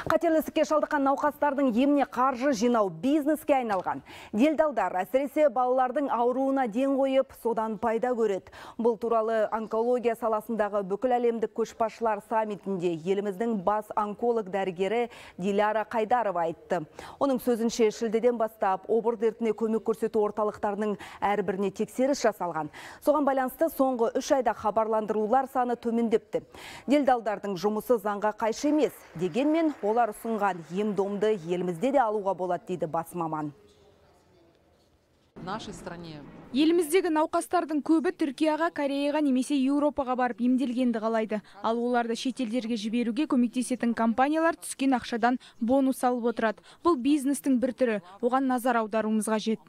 Қатерлі ісікке шалдыққан науқастардың еміне қаржы жинау бизнеске айналған. Делдалдар әсіресе балалардың ауруына ден қойып, содан пайда көреді. Бұл туралы онкология саласындағы бүкіл әлемдік көшбасшылар саммитінде еліміздің бас онколог дәрігері Диляра Қайдарова айтты. Оның сөзінше шілдеден бастап обыр дертіне көмек көрсету орталықтарының әрбіріне тексеріс жасалған. Соған байланысты соңғы 3 айда хабарландырулар саны төмендепті. Делдалдардың жұмысы заңға қайшы емес, дегенмен олар ұсынған ем-домды елімізде де алуға болады дейді бас маман. Еліміздегі науқастардың көбі Түркияға, Кореяға немесе Еуропаға барып емделгенді қалайды. Ал оларды шетелдерге жіберуге көмектесетін компаниялар түскен ақшадан бонус алып отырады. Бұл бизнестің бір түрі, оған назар аударуымыз қажет.